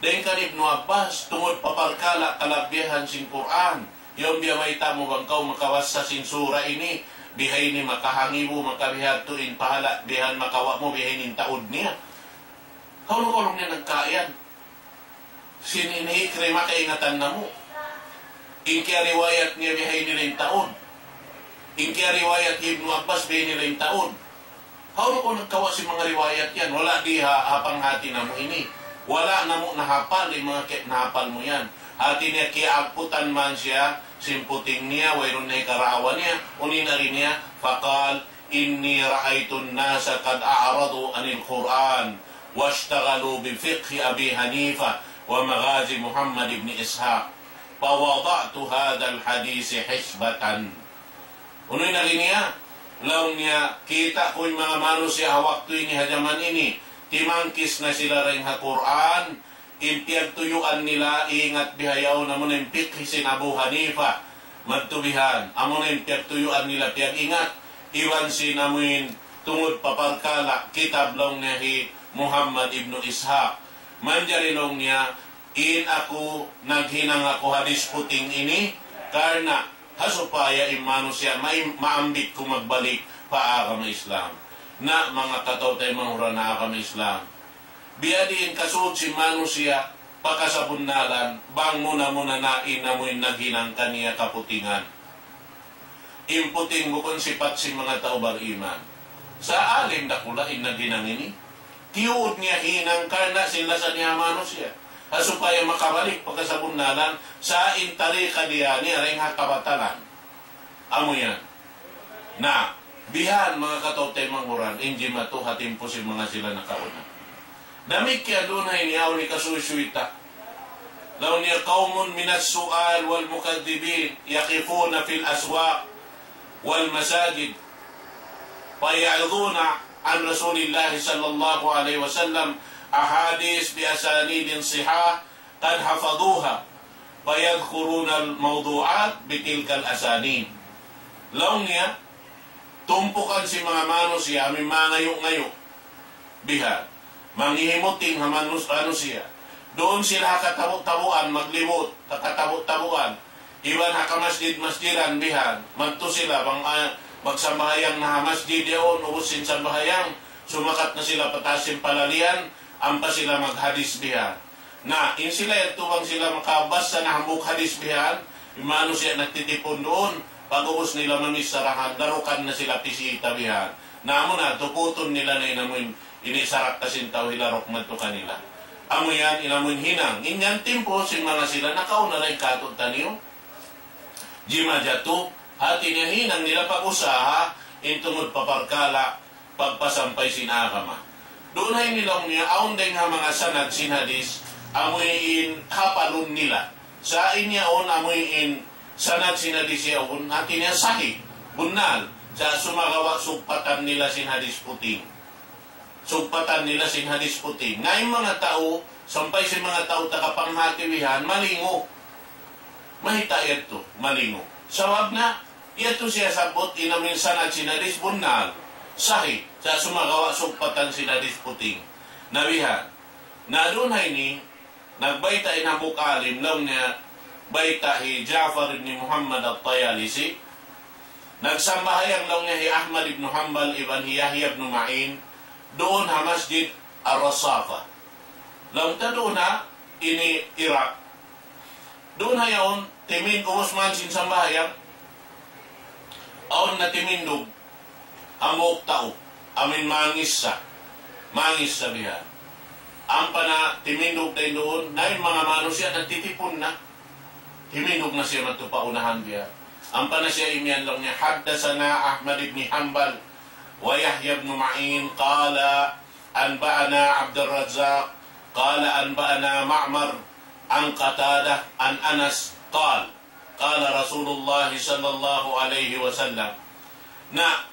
dayn kan Ibnu Abbas, tungud pa parkala' kalabihan sin Qur'an? Yaun biyabayta' mu bang kaw makabasa sin sura ini, bihaini makahangibu, makabihadtu in pahala', bihan makawa' mu bihaini in taud niya. Hawnu kaw laung niya nagkawa' yan? Sin ini Ikrimah kaingatan namu'. In kiyariwayat niya bihaini in taud. In kiyariwayat Ibnu Abbas bihaini in taud. Hawnu kaw nagkawa' sin manga riwayat yan? Wala' di ha, ha panghati namu' ini. Wala' namu' nahapal in manga ki-, nahapal mu yan." Hati niya kiyaaputan man siya sin puting niya, wayruun na hikarawa niya, unu in agi niya, فقال: إني رأيت الناس قد أعرضوا عن القرآن واشتغلوا بفقه أبي حنيفة ومغازي محمد بن إسحاق فوضعت هذا الحديث حسبة. Unu in agi niya? Laung niya, kita' ku in manga manusiya' ha waktu ini, ha jaman ini, timangkis na sila dayn ha Qur'an, in piyagtuyuan nila, ingat bihaun, amuna in fiqh sin Abu Hanifa, madtu bihan, amuna in piyagtuyuan nila piyag-ingat, iban sin amuin tungud pa parkala' kitab laung niya hi Muhammad ibnu Ishaq. Manjari laung niya, in aku naghinang aku hadis puting ini, karna' ha supaya in manusiya' ma-, maambit ku magbalik pa agama Islam. Na manga kataw-taymanghuran ha agama Islam, biyadiin kasud sin manusiya' pa kasabunnalan, bang muna-muna na in amuin naghinang kaniya kaputingan. In puting bukun sipat sin manga tau bariman. Sa' alim dakula' in naghinang ini. Tiyuud niya hinang karna' sin lasa niya ha manusiya'. Ha supaya makabalik pa kasabunnalan, sa' in tarika niya ini dayn ha kabatalan. Amu yan. Na, bihan manga kataw-taymanghuran, in jimatu ha timpu sin manga sila nakauna. Damikkiyan duun ha ini awn hikasuysuy ta. Laung niya, قوم من السعال والمكذبين يقفون في الأسواق والمساجد فيعرضون عن رسول الله صلى الله عليه وسلم أحاديث بأسانيد صحاح قد حفظوها فيذكرون الموضوعات بتلك الأسانيد. Laung niya, tumpukan sin manga manusiya', amuin mangayu'-ngayu'. Bihan. Mangihimuting ha manus-, manusiya'. Duun sila ha katabu-tabuan, maglibut, ha katabu-tabuan. Iban ha kamasjid-masjidan bihan. Madtu sila bang, ah, magsambahayang na ha masjid yaun, ubus sin sambahayang, sumakat na sila pataas sin palalian, ampa sila maghadis bihan. Na, in sila yadtu bang sila makabasa na hambuuk hadis bihan, in manusiya' nagtitipun duun, pag-ubus nila mamicharahan, darukan na sila pisita bihan. Na, amuna, tuputun nila na in amuin ini sarak ta sin tau hilaruk madtu kanila. Amu yan, in amuin hinang. In yan timpu sin manga sila nakauna dayn kātu'niyu. Jimajatu, hati niya hinang nila pag-usaha, in tungud pa parkala', pagpasampay sin agama. Duun ha ini laung niya, awn dayng ha manga sanad sin hadis, amuin hapalun nila. Sa' in yaun amuin sanad sin hadis yaun, hati niya sahih, bunnal. Sa' sumagawa' sugpatan nila sin hadis puting. Sugpatan nila sin hadis puting. Na in manga tau, sampay sin manga tau taga panghati bihan, malingu. Mayta' yadtu, malingu. Sabab na, yadtu siya sabbut in amuin sanad sin hadis bunnal. Sahih. Sa' sumagawa' sugpatan sin hadis puting. Na bihan. Na duun ha ini, nagbayta' in hambuuk alim, laung niya, bayta' hi Ja'far ibn Muhammad at-Tayalisi. Nagsambahayang laung niya hi Ahmad ibn Hanbal iban hi Yahya ibn Ma'in, duun ha Masjid Ar-Rasafa. Laung ta duun ha ini Iraq. Duun ha yaun, timin-, ubus man sin sambahayang, awn na timindug hambuuk tau, amuin mangissa, mangissa bihan. Ampa na timindug dayn duun, na in manga manusiya' nagtitipun na. Timindug na siya madtu pa unahan bihan. Ampa na siya imiyan laung niya, حدثنا أحمد بن حنبل ويحيى بن معين قال أنبأنا عبد الرزاق قال أنبأنا معمر عن قتادة عن أنس قال قال رسول الله صلى الله عليه وسلم. Na,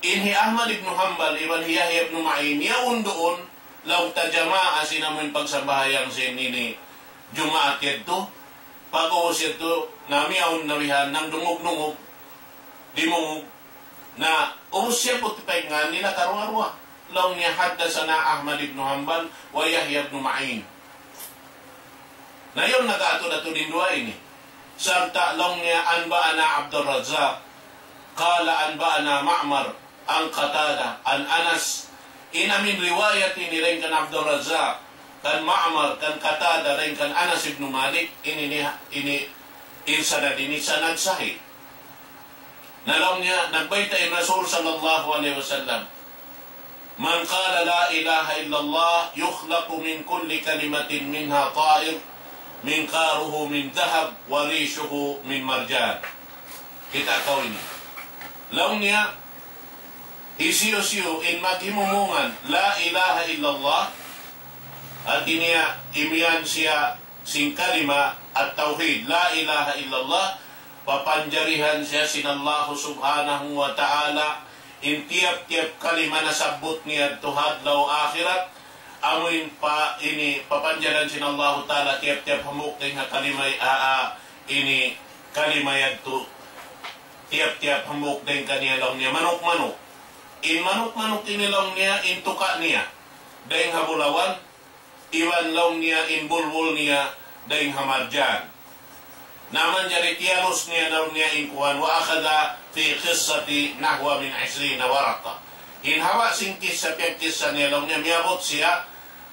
in hi Ahmad ibn Hanbal iban hi Yahya ibn Ma'in, yaun duun, laung ta jamaa sin amuin pagsambahayang sin ini Jumaat yadtu, pag-ubus yadtu, na miyaun na bihan nagdungug-dungug, dimungug, na ubus siya puti paingan nila karuwa-ruwa. Laung niya, حدثنا أحمد بن حنبل ويحيى بن معين. Na yaun nag-atud-atud in duwa ini. Sarta' laung niya, أنبأنا عبد الرزاق قال أنبأنا معمر عن قتادة عن أنس. In amuin riwayat ini dayn kan Abdul Razzaq, kan Ma'mar, kan Qatada, dayn kan Anas ibn Malik, ini, ini, ini, in sanad ini sanad sahih. Na laung niya, nagbayta' in Rasul sallallahu alayhi wasallam, من قال لا إله إلا الله يخلق من كل كلمة منها طائر منقاره من ذهب وريشه من مرجان. Kita' kaw ini. Laung niya, hisiyu-siyu in maghimumungan la ilaha illallah, hati niya imiyan siya sin kalima at-tawhid, la ilaha illallah, papanjarihan siya sin Allahu subhanahu wa ta'ala, in tiyap-tiyap kalima nasabbut niya yadtu ha adlaw akhirat, amuin pa ini papanjarihan sin Allahu ta'ala tiyap-tiyap hambuuk dayn ha kalima, a, a, ini kalima yadtu, tiyap-tiyap hambuuk dayn kaniya laung niya manuk-manuk. In manuk-manuk ini laung niya, in tuka' niya dayn ha bulawan, iban laung niya in bulbul niya dayn ha marjan. Na manjari tiyalus niya laung niya in kuwan, وأخذ في قصة نحو من عشرين ورقة. In haba' sin kissa, piyagkissa niya laung niya, miyabut siya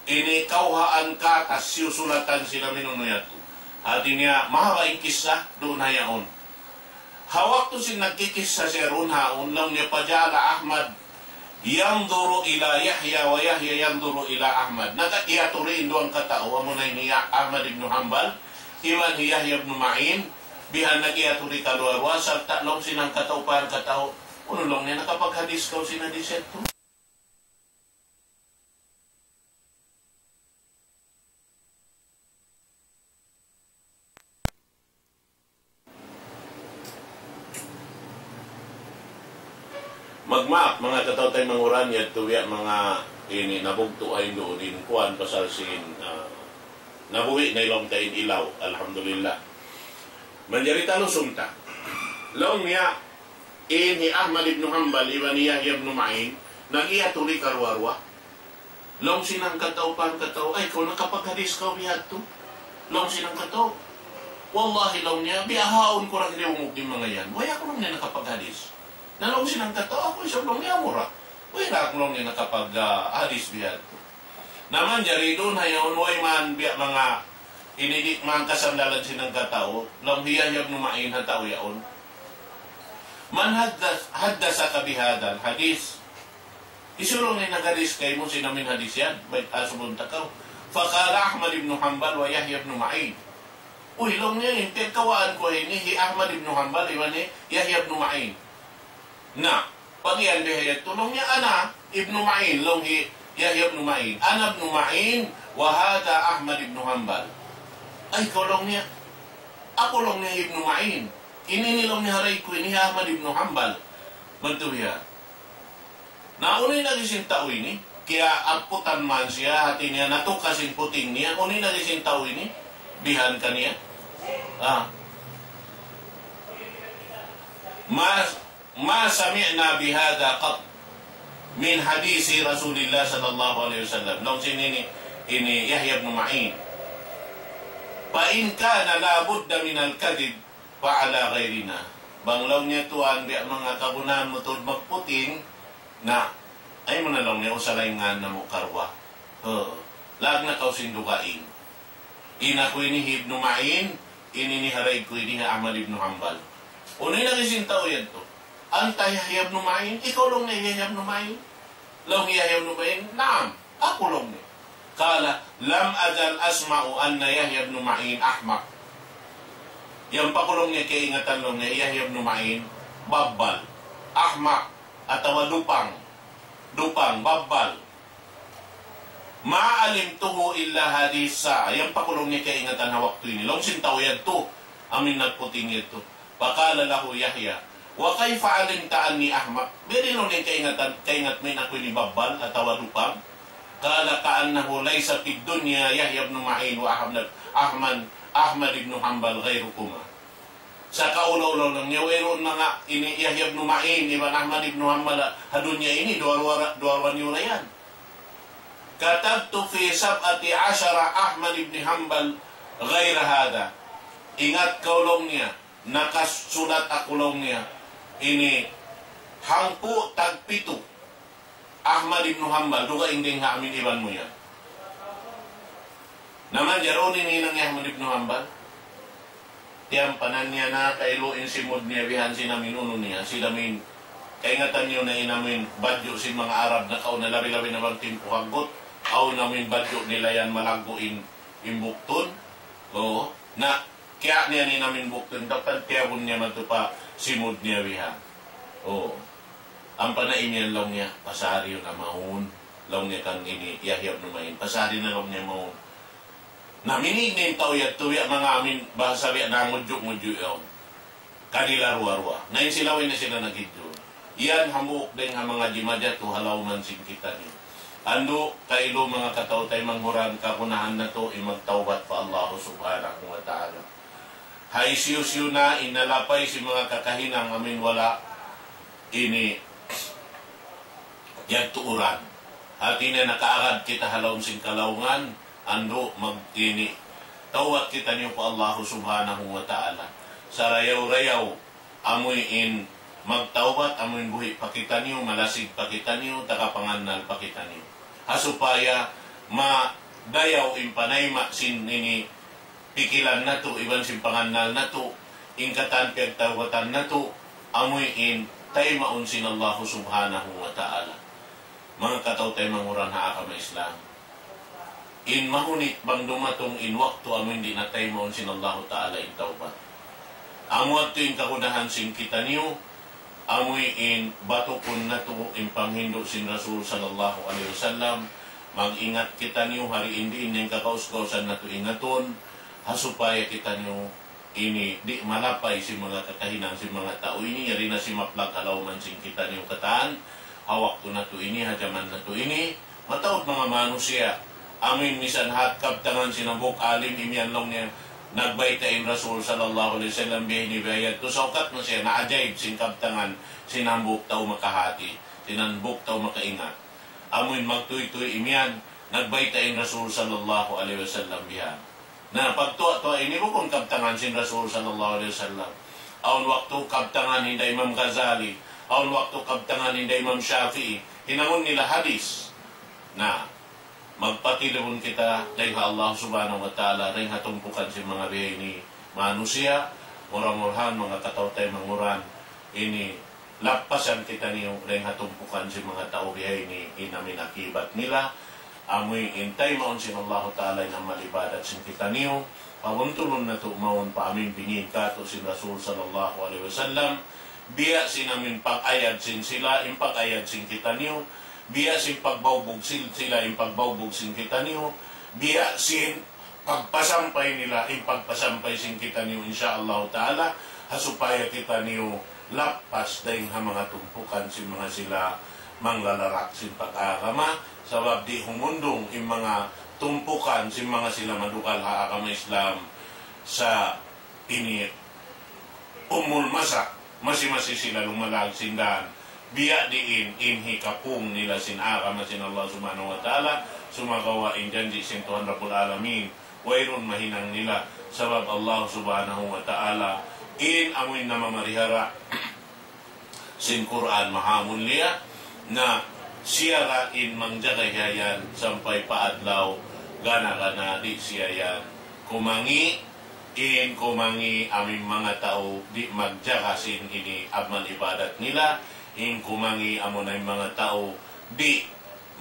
ini kawhaan katas, siyusulatan sila minunu yadtu. Hati niya, mahaba' in kissa, duun ha yaun. Ha waktu sin nagkikissa siya duun ha yaun, laung niya, فجعل أحمد ينظر إلى يحيى ويحيى ينظر إلى أحمد. Nag-iyaturi in duwa katau, amuna in hi Ahmad ibn Hanbal, iban hi Yahya ibn Ma'in, bihan nag-iyaturi karuwa-ruwa, sarta' laung sin hangkatau pa hangkatau, unu laung niya, nakapaghadis kaw sin hadis yadtu? Magmaap, manga kataw-taymanghuran, yadtu biya' manga ini nabugtu' ha in duun in kuwan pasal sin, ah, nabuhi' na laung ta in ilaw. Alhamdulillah. Manjari talusun ta. Laung niya, in hi Ahmad ibn Hanbal, iban hi Yahya ibn Ma'in, nag-iyaturi karuwa-ruwa. Laung sin hangkatau pa hangkatau, "Ay, kaw nakapaghadis kaw bihadtu?" Laung sin hangkatau, "Wallahi," laung niya, "bihaun ku ra hiriwmuk in manga yan. Way aku," laung niya, "nakapaghadis." Na laung sin hangkatau, "Aku isab," laung niya, "amura. Way ra aku," laung niya, "nakapag, ah, hadis bihadtu." Na manjari duun ha yaun, way man biya' manga ini di' man kasandalan sin hangkatau, laung hi Yahya ibn Ma'in ha tau yaun. "من حدث-، حدثك بهذا الحديث؟" Hisiyu laung in naghadis kaymu sin amuin hadis yan, bayta' subun ta kaw. فقال أحمد بن حنبل ويحيى بن معين. "Uy," laung niya, "in piyagkawaan ku ini hi Ahmad ibn Hanbal, iban hi Yahya ibn Ma'in." Na, pag-iyan biha' yadtu, laung niya, "أنا ابن معين," laung hi Yahya ibn Ma'in. "أنا ابن معين وهذا أحمد بن حنبل." "Ay, kaw," laung niya, "aku," laung niya, "ibn Ma'in. Ini, ini," laung niya, "haray ku ini hi Ahmad ibn Hanbal." Madtu biya'. Na unu in agi sin tau ini, kiyaaputan man siya, hati niya natukas in puting niya, unu in agi sin tau ini, bihan kaniya. Ah. ما، ما سمعنا بهذا قط من حديث رسول الله صلى الله عليه وسلم. Laung sin ini, ini Yahya ibn Ma'in. فإن كان لا بد من الكذب فعلى غيرنا. Bang laung niya tuwan, biya' manga kagunahan mu tuud magputing, na, ayaw mu na laung niya usalayngan namu' karuwa. Uu. Laag na kaw sin dugaing. In aku ini hi Ibnu Ma'in, in ini haray ku ini hi Ahmad ibnu Hanbal. Unu in agi sin tau yadtu? أنت يحيى بن معين؟ Ikaw laung niya Yahya ibnu Ma'in? Laung hi Yahya ibnu Ma'in, "Naam, aku," laung niya. قال: لم أزل أسمع أن يحيى بن معين أحمق. Yan pa ku laung niya kaingatan laung niya Yahya ibnu Ma'in, babbal, ahmaq, atawa dupang. dupang, babbal. ما علمته إلا هذه الساعة. Yan pa ku laung niya kaingatan ha waktu ini. Laung sin tau yadtu, amuin nagputing yadtu. فقال له يحيى: وكيف علمت أني أحمق؟ Biyadiin laung niya kaingatan, kaingat mu in aku ini babbal atawa dupang? قال: كأنه ليس في الدنيا يحيى بن معين وأحمد، أحمد، أحمد بن حنبل غيركما. Sa' kaulaw-ulaw laung niya, wayruun manga ini Yahya ibn Ma'in iban Ahmad ibn Hanbal ha dunya ini, duwa-ruwa, duwa-ruwa niyu ra yan. كتبت في سبعة عشر أحمد بن حنبل غير هذا. Ingat kaw laung niya, nakasulat aku laung niya, ini hangpu' tagpitu Ahmad ibn Hanbal, dugaing dayn ha amin iban mu yan. Na manjari unu in hinang hi Ahmad ibn Hanbal? Tiyampanan niya na kailu in simud niya bihan sin amin unu niya, sin amin. Kaingatan niyu na in amin badju' sin manga Arab nakauna, labi-labi na bang timpu haggut, awn amin badju' nila yan malaggu' in, in buktun. Oo. Na, kiya' niya in amin buktun, dapat tiyabun niya madtu pa simud niya bihan. Oo. Ampa na imiyan laung niya, pasari na mawn. Laung niya kan ini, Yahya ibn Ma'in, pasari na laung niya mawn. Na minig in tau yadtu, biya' manga amin bahasa biya' nangudju'-ngudju' yaun. Kanila ruwa-ruwa. Na in sila way na sila nagidju. Yan hambuuk dayn ha manga jimajatu ha lawman sin kitaniyu. Andu', kailu manga kataw-taymanghuran, kagunahan natu' in magtawbat pa Allah Subhanahu wa Ta'ala. Ha hisiyu-siyu na in nalapay sin manga kakahinang amin wala' ini yadtu uran. Hati niya nakaagad kita ha lawm sin kalaungan, andu' mag-, ini, tawbat kitaniyu pa Allah Subhanahu wa Ta'ala. Sarayaw-rayaw, amuin magtawbat, amuin buhi' pa kitaniyu, malasig pa kitaniyu, tagapangannal pa kitaniyu. Ha supaya madayaw in panayma' sin ini pikilan natu', iban sin pangannal natu', in katan piyagtawbatan natu', amuin taymaun sin Allah Subhanahu wa Ta'ala. Manga kataw-taymanghuran ha agama Islam. In mahunit bang dumatung in waktu amuin di' na taymaun sin Allahu Ta'ala in tawbat. Amu yadtu in kagunahan sin kitaniyu, amuin batukun natu' in panghindu' sin Rasul sallallahu alayhi wasallam, mag-ingat kitaniyu ha diin-diin in kakaus-kausan natu' ingatun, ha supaya kitaniyu ini di' malapay sin manga kakahinang sin manga tau ini, yari na simaplag ha lawman sin kitaniyu katan, ha waktu natu' ini, ha jaman natu' ini, mataud manga manusiya', amuin misan hat kabtangan sin hambuuk alim imiyan laung niya, nagbayta' in Rasul sallallahu alayhi wasallam biya' ini biya' yadtu, saukat na siya, naajaib sin kabtangan sin hambuuk tau makahati, sin hambuuk tau makaingat. Amuin magtuytuy imiyan, nagbayta' in Rasul sallallahu alayhi wasallam biya' Na pagtuwa-tuwa ini bukun kabtangan sin Rasul sallallahu alayhi wasallam. Awn waktu kabtangan hinda Imam Ghazali, awn waktu kabtangan hinda Imam Shafi'i, hinangun nila hadis. Na, magpatilibun kita dayn ha Allah Subhanahu wa Ta'ala, dayn ha tumpukan sin manga biya' ini manusiya', mura-murahan manga kataw-taymanghuran ini lappasan kitaniyu dayn ha tumpukan sin manga tau biya' ini in amin akibat nila. Amuin taymaun sin Allahu Ta'ala in amal ibadat sin kitaniyu. Pabuntulun natu' mawn pa amin bingin katu' sin Rasul sallallahu alayhi wasallam. Biya' sin amin pag-ayad sin sila, in pag-ayad sin kitaniyu. Biya' sin pagbawbug sin sila, in pagbawbug sin kitaniyu. Biya' sin pagpasampay nila, in pagpasampay sin kitaniyu, insya Allah Ta'ala, ha supaya kitaniyu lappas dayn ha manga tumpukan sin manga sila manglalarak sin pag-agama, sabab di' humundung in manga tumpukan sin manga sila madukal ha agama Islam sa ini umul masa, masi-masi sila lumalag sin dan. Biya' diin in hikapung nila sin agama sin Allah Subhanahu wa Ta'ala, sumagawa' in janji' sin Tuhan Rabbul Alamin, wayruun mahinang nila, sabab Allah Subhanahu wa Ta'ala in amuin namamarihara sin Qur'an mahamulliya, na siya ra in mangjaga hiyayan sampay pa adlaw gana-gana di' siya yan kumangi', in kumangi' amin manga tau di' magjaga sin ini amal ibadat nila, in kumangi' amuna in manga tau di'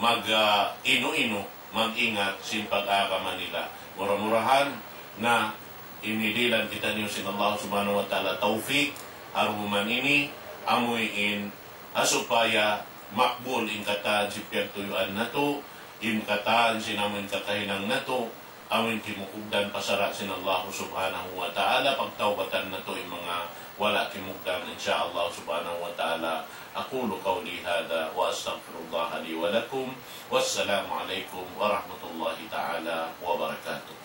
mag, ah, inu-inu, mag-ingat sin pag-agama nila. Mura-murahan na ini dihilan kitaniyu sin Allah Subhanahu wa Ta'ala tawfik, ha duman ini, amuin, ha supaya makbul in katan sin piyagtuyuan natu', in katan sin amu in kakahinang natu', amu in kimugdan pa sara' sin Allah subhanahu wa ta'ala, pagtawbatan natu' in manga wala' kimugdan, insya Allah subhanahu wa ta'ala. أقول قولي هذا وأستغفر الله لي ولكم. والسلام عليكم ورحمة الله تعالى وبركاته.